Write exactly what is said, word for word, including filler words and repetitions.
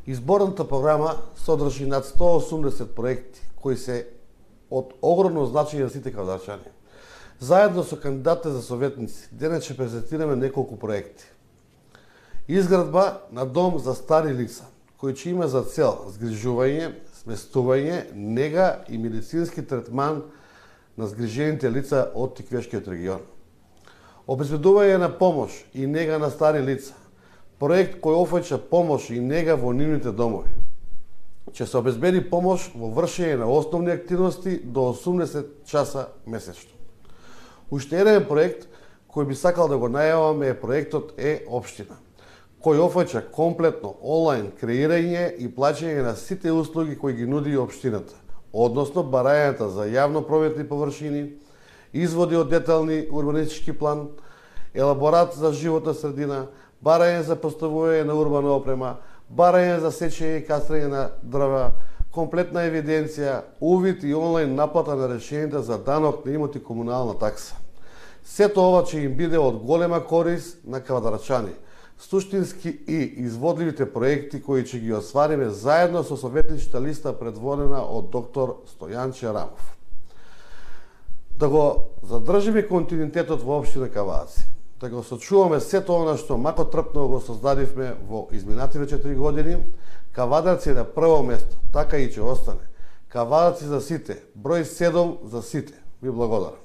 Изборната програма содржи над сто и осумдесет проекти кои се од огромно значење за сите кавадарчани. Заедно со кандидатите за советници, денес ќе презентираме неколку проекти. Изградба на дом за стари лица, кој ќе има за цел згрижување, сместување, нега и медицински третман на згрижените лица од Тиквешкиот регион. Обезбедување на помош и нега на стари лица, проект кој офаќа помош и нега во нивните домови. Ќе се обезбеди помош во вршење на основни активности до осумдесет часа месечно. Уште еден проект кој би сакал да го најаваме е проектот Е-општина, кој офаќа комплетно онлайн креирање и плаќање на сите услуги кои ги нуди општината, односно барањата за јавно прометни површини, изводи од детални урбанистички план, елаборат за животна средина, барање за поставување на урбана опрема, барање за сечење и кастрење на дрва, комплетна евиденција, увид и онлайн наплата на решенията за данок на имот и комунална такса. Сето ова ќе им биде од голема корис на кавадарчани, суштински и изводливите проекти кои ќе ги освариме заедно со советничката листа предводена од доктор Стојан Черамов. Да го задржиме континуитетот во општина Кавадаци, да го сочуваме сето она што мако трпно го создадивме во изминативе четири години, Кавадаци е на прво место, така и ќе остане. Кавадаци за сите, број седум за сите. Ви благодарам.